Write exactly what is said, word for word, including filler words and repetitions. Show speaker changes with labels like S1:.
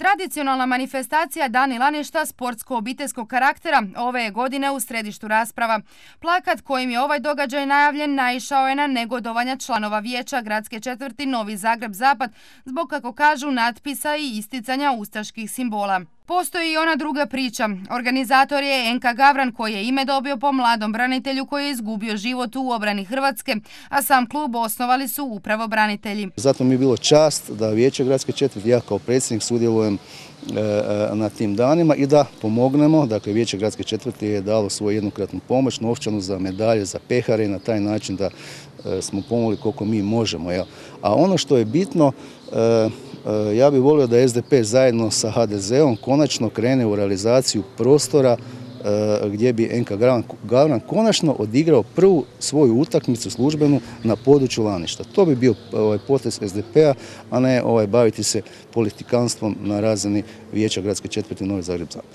S1: Tradicionalna manifestacija Dani Laništa sportsko-obiteljskog karaktera ove je godine u središtu rasprava. Plakat kojim je ovaj događaj najavljen naišao je na negodovanja članova vijeća gradske četvrti Novi Zagreb-Zapad zbog, kako kažu, natpisa i isticanja ustaških simbola. Postoji i ona druga priča. Organizator je Enka Gavran koji je ime dobio po mladom branitelju koji je izgubio život u obrani Hrvatske, a sam klub osnovali su upravo branitelji.
S2: Zato mi je bilo čast da vijeće gradske četvrti, ja kao predsjednik sudjelujem na tim danima i da pomognemo. Dakle, vijeće gradske četvrti je dalo svoju jednokratnu pomoć, novčanu za medalje, za pehare i na taj način da smo pomogli koliko mi možemo. A ono što je bitno, ja bih volio da S D P zajedno sa H D Z-om konačno krene u realizaciju prostora gdje bi Enka Gavran konačno odigrao prvu svoju utakmicu službenu na području Laništa. To bi bio potez S D P-a, a ne baviti se politikanstvom na razini vijeća gradske četvrti Novi Zagreb-Zapad.